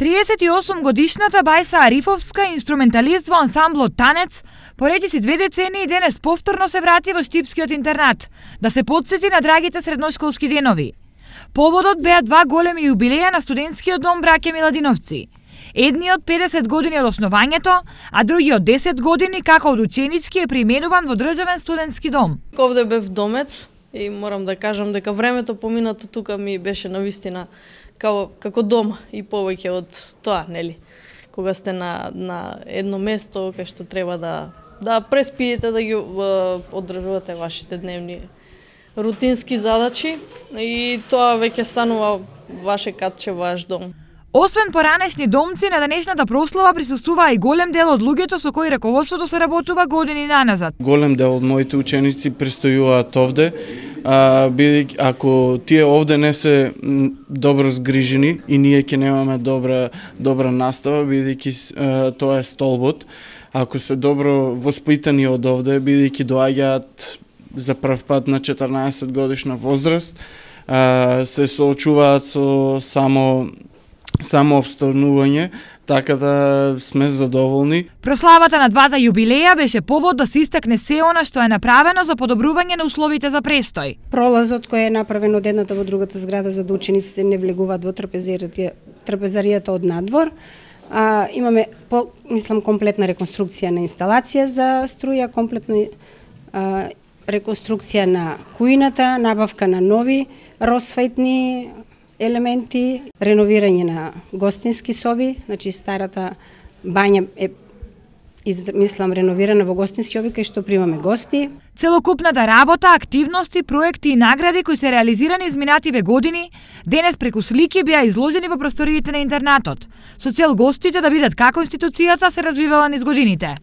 38 годишната Бајса Арифовска, инструменталист во ансамблот Танец, поречиси 2 децении денес повторно се врати во Штипскиот интернат, да се потсети на драгите средношколски денови. Поводот беа 2 големи јубилеја на студентскиот дом браќа Миладиновци. Едниот 50 години од основањето, а другиот 10 години како од ученички е применуван во државен студентски дом. Овде бев домец и морам да кажам дека времето поминато тука ми беше навистина како дом и повеќе од тоа, нели? Кога сте на едно место кај што треба да преспиете, да ги одржувате вашите дневни рутински задачи и тоа веќе станува ваше катче, ваш дом. Освен поранешни домци, на денешната прослава присуствуваа и голем дел од луѓето со кои раководството се работува години наназад. Голем дел од моите ученици престојуваат овде, бидејќи ако тие овде не се добро згрижени и ние ќе немаме добра настава, бидејќи тоа е столбот. Ако се добро воспитани од овде, бидејќи доаѓаат за прв пат на 14 годишна возраст, се соочуваат со само обстанување, така да сме задоволни. Прославата на двата јубилеја беше повод да се истакне се она што е направено за подобрување на условите за престој. Пролазот кој е направен од едната во другата зграда за да учениците не влегуваат во трапезаријата од надвор. Имаме комплетна реконструкција на инсталација за струја, комплетна реконструкција на кујната, набавка на нови росветни елементи, реновирање на гостински соби, значи старата бања е реновирана во гостински соби кај што примаме гости. Целокупната работа, активности, проекти и награди кои се реализирани изминативе години, денес преку слики беа изложени во просториите на интернатот, со цел гостите да видат како институцијата се развивала низ годините.